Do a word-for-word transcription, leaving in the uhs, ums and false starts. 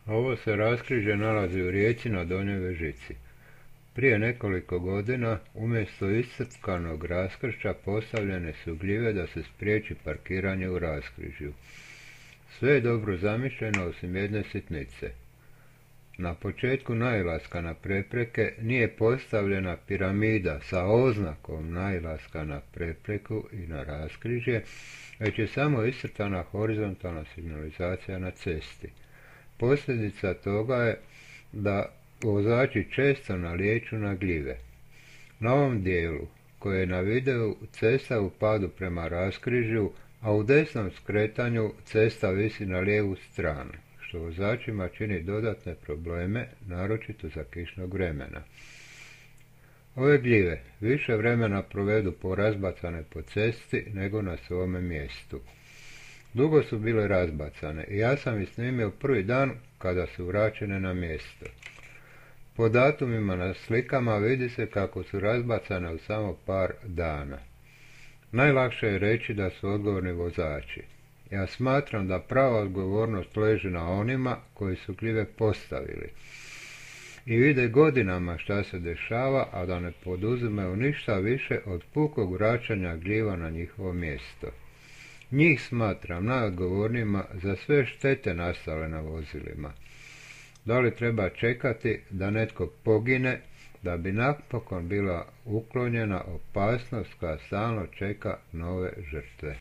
Ovo se raskrižje nalazi u rijeci na Donjoj Vežici. Prije nekoliko godina umjesto iscrpkanog raskršća postavljene su gljive da se spriječi parkiranje u raskrižju. Sve je dobro zamišljeno osim jedne sitnice. Na početku nailaska na prepreke nije postavljena piramida sa oznakom nailaska na prepreku i na raskrižje, već je samo iscrtana horizontalna signalizacija na cesti. Posljedica toga je da vozači često nalijeću na gljive. Na ovom dijelu, koji je na videu, cesta u padu prema raskrižju, a u desnom skretanju cesta visi na lijevu stranu, što vozačima čini dodatne probleme, naročito za kišnog vremena. Ove gljive više vremena provedu porazbacane po cesti nego na svome mjestu. Dugo su bile razbacane i ja sam ih snimio prvi dan kada su vraćene na mjesto. Po datumima na slikama vidi se kako su razbacane u samo par dana. Najlakše je reći da su odgovorni vozači. Ja smatram da prava odgovornost leži na onima koji su gljive postavili i vide godinama šta se dešava, a da ne poduzimaju ništa više od pukog vraćanja gljiva na njihovo mjesto. Njih smatram najodgovornijima za sve štete nastale na vozilima. Da li treba čekati da netko pogine da bi napokon bila uklonjena opasnost koja stalno čeka nove žrtve?